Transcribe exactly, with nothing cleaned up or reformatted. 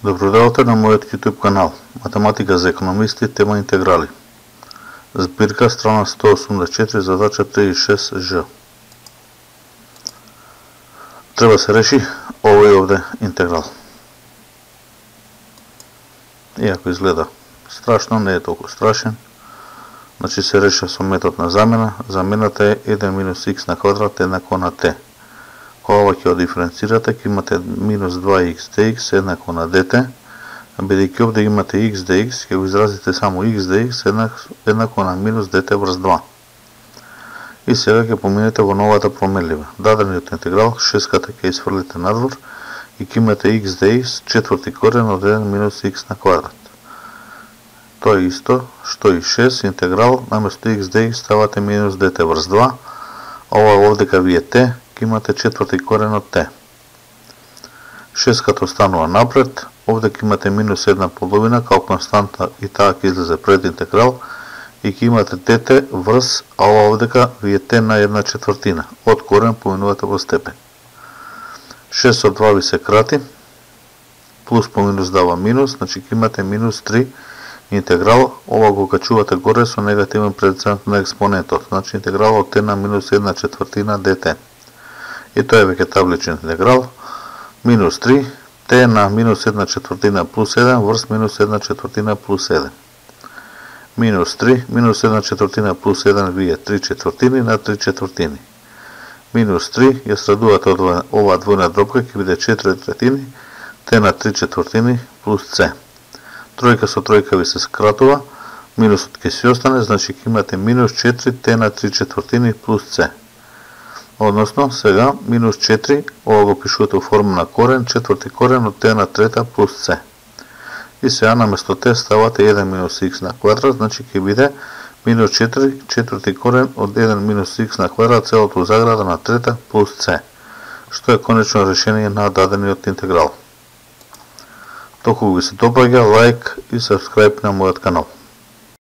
Добродојавте на мојот YouTube канал Математика за економисти, тема интеграли. Збирка страна сто осумдесет и четири, задача три шест Ж. Треба се реши овој овде интеграл. Иако изгледа страшно, не е толку страшен. Значи се реша со метод на замена. Замената е еден минус х на квадрат еднакво на t. Ова ќе го диференцирате, ќе имате минус два х dx еднакво на dt, бидејќи овде имате х dx, ќе го изразите само х dx еднакво на минус dt врз два. И сега ќе поминете во новата променлива. Дадениот интеграл, шеската ќе изфрлите надвор и ќе имате х dx четврти корен од еден минус х на квадрат. Тоа е исто што и шест интеграл, наместо х dx ставате минус dt врз два, ова овдека ви е t, имате четврти корен од t. шеската останува напред, овде ќе имате минус една половина као константа и таа ќе излезе пред интеграл и ќе имате dt врз, а ова овдека ви е t на една четвртина. Од корен поминувате во степен. шест од два ви се крати, плюс по минус дава минус, значи ќе имате минус три интеграл, ова го качувате горе со негативен процент на експонентот, значи интеграл од t на минус една четвртина dt. И тоа е веќе табличен интеграл, минус три, t на минус една четвртина плюс еден врз минус една четвртина плюс еден. Минус три, минус една четвртина плюс еден ви е три четвртини на три четвртини. Минус три, ја средувате од ова двојна дробка, ќе биде четири третини, t на три четвртини плюс c. Тројка со тројка ви се скратува, минусот ќе си остане, значи ќе имате минус четири t на три четвртини плюс c. Односно, сега, минус четири, ова го пишувате во форма на корен, четврти корен од t на трета плюс c. И сега, наместо t ставате еден минус х на квадрат, значи ќе биде минус четири, четврти корен од еден минус х на квадрат, целото заграда на трета плюс c, што е конечно решение на дадениот интеграл. Толку ви се допаѓа, лайк и сабскрајб на мојот канал.